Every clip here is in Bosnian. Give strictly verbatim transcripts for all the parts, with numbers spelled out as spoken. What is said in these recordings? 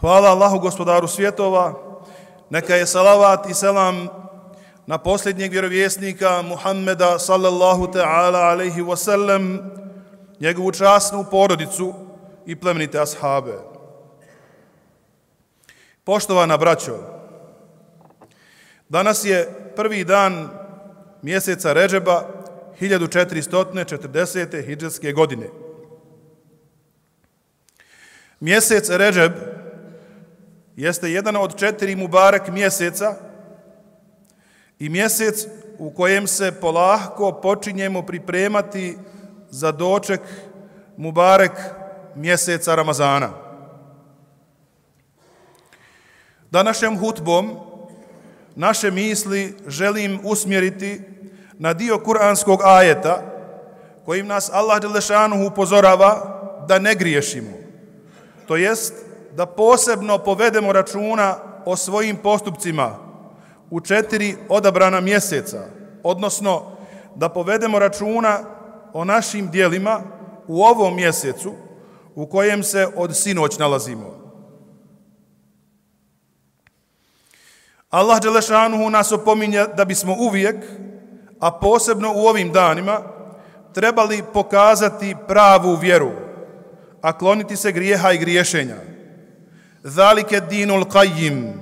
Hvala Allahu gospodaru svjetova, neka je salavat i selam na posljednjeg vjerovjesnika Muhammeda sallallahu ta'ala alaihi wasallam, njegovu časnu porodicu i plemenite ashabe. Poštovana braćo, danas je prvi dan mjeseca Redžeba hiljadu četiristo četrdesete hidžetske godine. Mjesec Redžeb jeste jedan od četiri mubarek mjeseca i mjesec u kojem se polahko počinjemo pripremati za doček mubarek mjeseca Ramazana. Današnjom hutbom naše misli želim usmjeriti na dio kuranskog ajeta kojim nas Allah dželešanuhu upozorava da ne griješimo, to jest da posebno povedemo računa o svojim postupcima u četiri odabrana mjeseca, odnosno da povedemo računa o našim dijelima u ovom mjesecu u kojem se od sinoć nalazimo. Allah dželešanuhu nas opominje da bismo uvijek, a posebno u ovim danima, trebali pokazati pravu vjeru, a kloniti se grijeha i griješenja. Zalike dinul qayyim,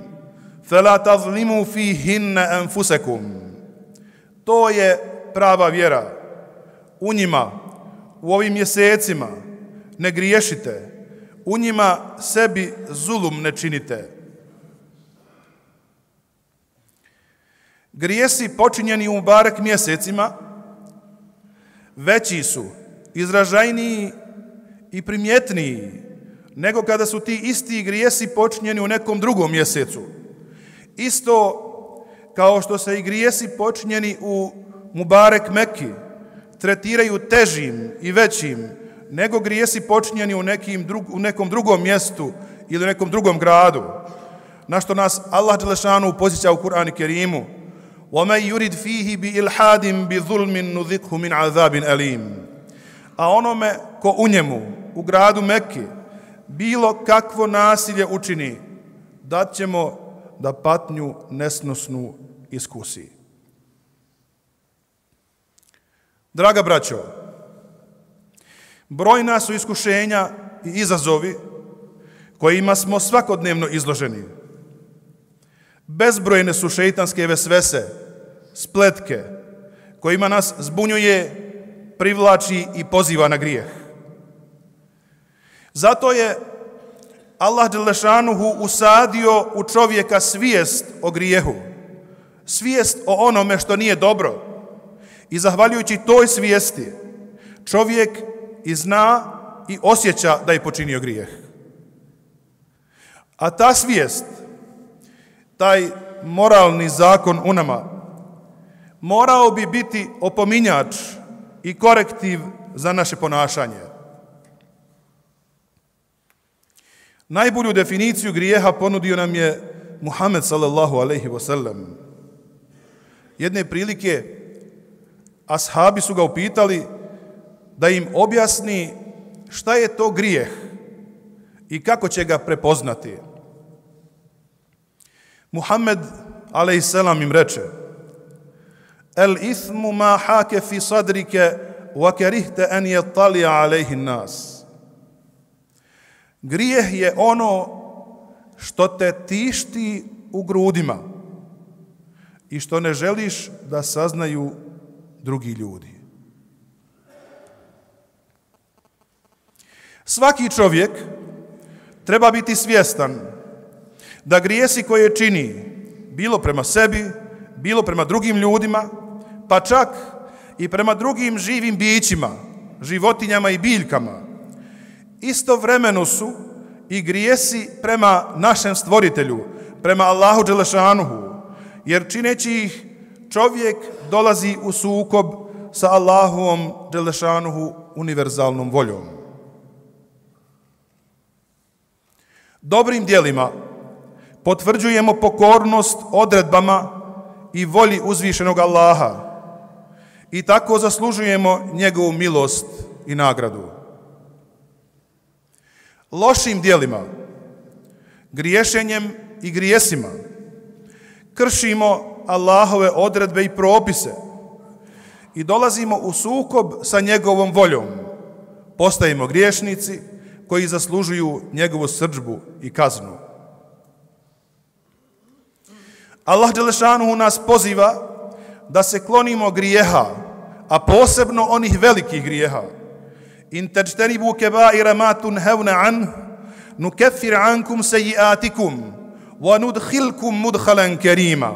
fela tazlimu fihinna anfusakum. To je prava vjera. U njima, u ovim mjesecima, ne griješite. U njima sebi zulum ne činite. Grijesi počinjeni u mubarek mjesecima veći su, izražajniji i primjetniji nego kada su ti isti grijesi počinjeni u nekom drugom mjesecu. Isto kao što se i grijesi počinjeni u mubarek Meki tretiraju težim i većim nego grijesi počinjeni u, nekim drug, u nekom drugom mjestu ili u nekom drugom gradu, na što nas Allah dželešanu podsjeća u Kur'anu Kerimu: وَمَنْ يُرِدْ فِيهِ بِإِلْحَادٍ بِظُلْمٍ نُذِقْهُ مِنْ عَذَابٍ أَلِيمٍ. A onome ko u njemu, u gradu Mekke, bilo kakvo nasilje učini, dat ćemo da patnju nesnosnu iskusi. Draga braćo, brojna su iskušenja i izazovi kojima smo svakodnevno izloženi. Bezbrojne su šeitanske vesvese, spletke, kojima nas zbunjuje, privlači i poziva na grijeh. Zato je Allah dželešanuhu usadio u čovjeka svijest o grijehu, svijest o onome što nije dobro. I zahvaljujući toj svijesti, čovjek i zna i osjeća da je počinio grijeh. A ta svijest, taj moralni zakon u nama, morao bi biti opominjač i korektiv za naše ponašanje. Najbolju definiciju grijeha ponudio nam je Muhammed sallallahu alejhi ve sellem. Jedne prilike ashabi su ga upitali da im objasni šta je to grijeh i kako će ga prepoznati. Muhammed alejhi selam im reče: El ithmu ma hake fi sadrike wa kerihte en yattali'a alejhi nas. Grijeh je ono što te tišti u grudima i što ne želiš da saznaju drugi ljudi. Svaki čovjek treba biti svjestan da grijesi koje čini, bilo prema sebi, bilo prema drugim ljudima, pa čak i prema drugim živim bićima, životinjama i biljkama, istovremeno su i grijesi prema našem stvoritelju, prema Allahu dželešanuhu, jer čineći ih čovjek dolazi u sukob sa Allahovom dželešanuhu univerzalnom voljom. Dobrim djelima potvrđujemo pokornost odredbama i volji uzvišenog Allaha i tako zaslužujemo njegovu milost i nagradu. Lošim djelima griješenjem i grijesima. Kršimo Allahove odredbe i propise i dolazimo u sukob sa njegovom voljom. Postajemo griješnici koji zaslužuju njegovu srdžbu i kaznu. Allah dželešanuhu nas poziva da se klonimo grijeha, a posebno onih velikih grijeha. In tajtanibu kebaira ma tunhevna an, nukeffir ankum sejiatikum, wa nudhilkum mudhalan kerima.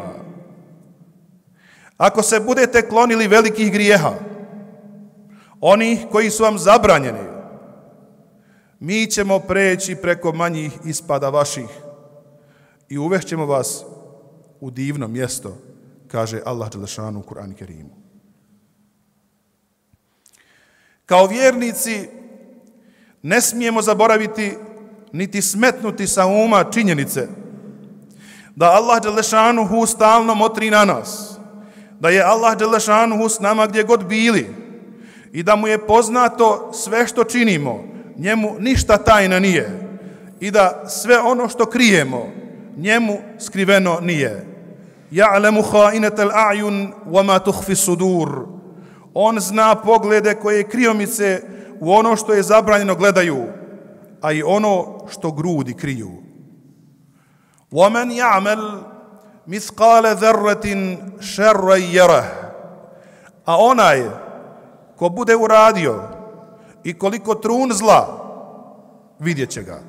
Ako se budete klonili velikih grijeha, onih koji su vam zabranjeni, mi ćemo preći preko manjih ispada vaših i uvešćemo vas u divno mjesto, kaže Allah dželešanu u Kur'anu Kerimu. Kao vjernici ne smijemo zaboraviti niti smetnuti sa uma činjenice da Allah dželešanuhu stalno motri na nas, da je Allah dželešanuhu s nama gdje god bili i da mu je poznato sve što činimo, njemu ništa tajna nije i da sve ono što krijemo, njemu skriveno nije. Ja'lemu kha'inatal a'yun wa ma tukhfi sudur. On zna poglede koje kriomice u ono što je zabranjeno gledaju, a i ono što grudi kriju. Wa man ya'mal mithqala dharratin sharran yarah. A onaj ko bude uradio i koliko trun zla, vidjet će ga.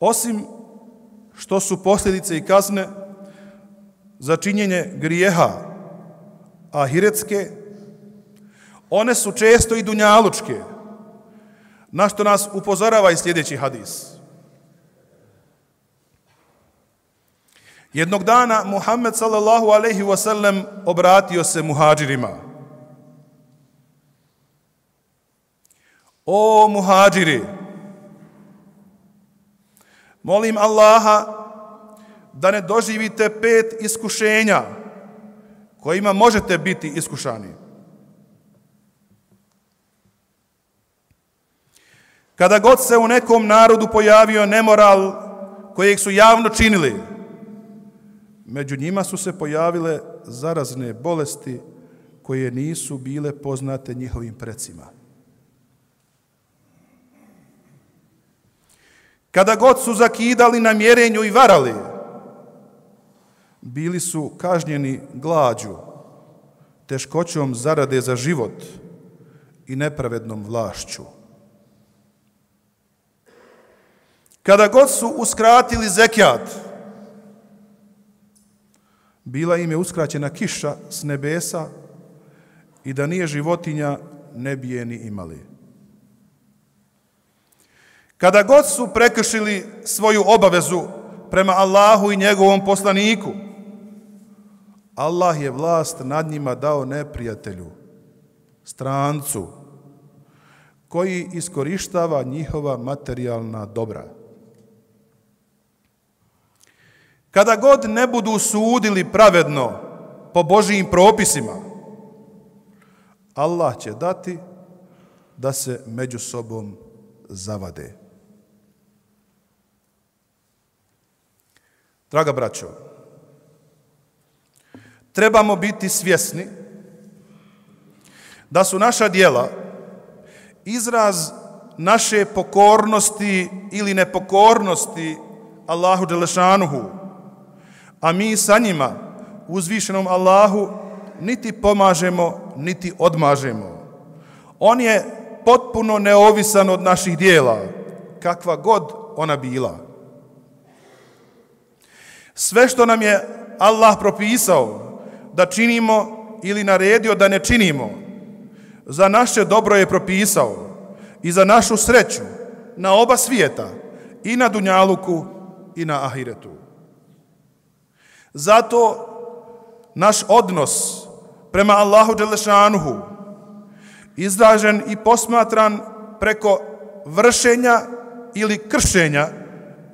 Osim što su posljedice i kazne za činjenje grijeha ahiretske, one su često i dunjalučke, na što nas upozorava i sljedeći hadis. Jednog dana Muhammed sallallahu alejhi ve sellem obratio se muhadžirima. O muhadžiri, molim Allaha da ne doživite pet iskušenja kojima možete biti iskušani. Kada god se u nekom narodu pojavio nemoral kojeg su javno činili, među njima su se pojavile zarazne bolesti koje nisu bile poznate njihovim precima. Kada god su zakidali na mjerenju i varali, bili su kažnjeni glađu, teškoćom zarade za život i nepravednom vlašću. Kada god su uskratili zekijat, bila im je uskraćena kiša s nebesa i da nije životinja, ne bi je ni imali. Kada god su prekršili svoju obavezu prema Allahu i njegovom poslaniku, Allah je vlast nad njima dao neprijatelju, strancu, koji iskorištava njihova materijalna dobra. Kada god ne budu sudili pravedno po Božijim propisima, Allah će dati da se među sobom zavade. Draga braćo, trebamo biti svjesni da su naša djela izraz naše pokornosti ili nepokornosti Allahu dželešanuhu, a mi sa njima, uzvišenom Allahu, niti pomažemo, niti odmažemo. On je potpuno neovisan od naših djela, kakva god ona bila. Sve što nam je Allah propisao da činimo ili naredio da ne činimo, za naše dobro je propisao i za našu sreću na oba svijeta, i na dunjaluku i na ahiretu. Zato naš odnos prema Allahu dželešanuhu, izražen i posmatran preko vršenja ili kršenja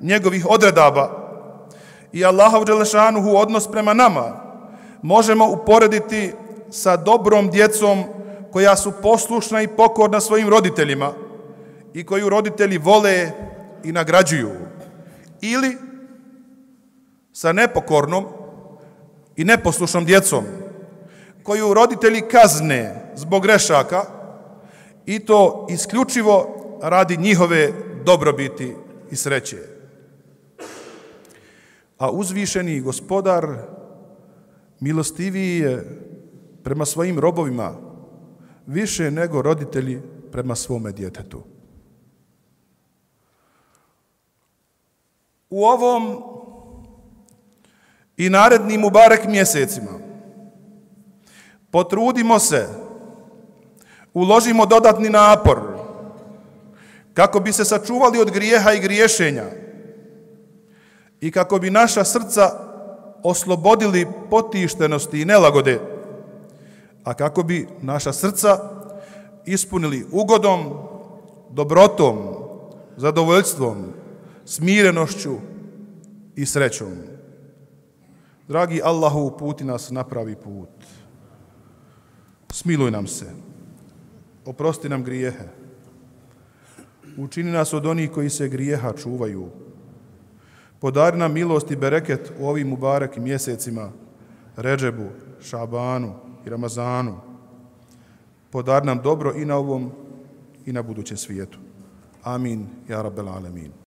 njegovih odredaba, i Allahov dželešanuhu odnos prema nama možemo uporediti sa dobrom djecom koja su poslušna i pokorna svojim roditeljima i koju roditelji vole i nagrađuju, ili sa nepokornom i neposlušnom djecom koju roditelji kazne zbog grešaka i to isključivo radi njihove dobrobiti i sreće. A uzvišeni Gospodar milostiviji je prema svojim robovima više nego roditelji prema svome djetetu. U ovom i narednim mubarek mjesecima potrudimo se, uložimo dodatni napor kako bi se sačuvali od grijeha i griješenja i kako bi naša srca oslobodili potištenosti i nelagode, a kako bi naša srca ispunili ugodom, dobrotom, zadovoljstvom, smirenošću i srećom. Dragi Allahu, uputi nas na pravi put. Smiluj nam se, oprosti nam grijehe, učini nas od onih koji se grijeha čuvaju, podari nam milost i bereket u ovim mubarek mjesecima, Redžebu, Šabanu i Ramazanu. Podari nam dobro i na ovom i na budućem svijetu. Amin, ja rabbel alemin.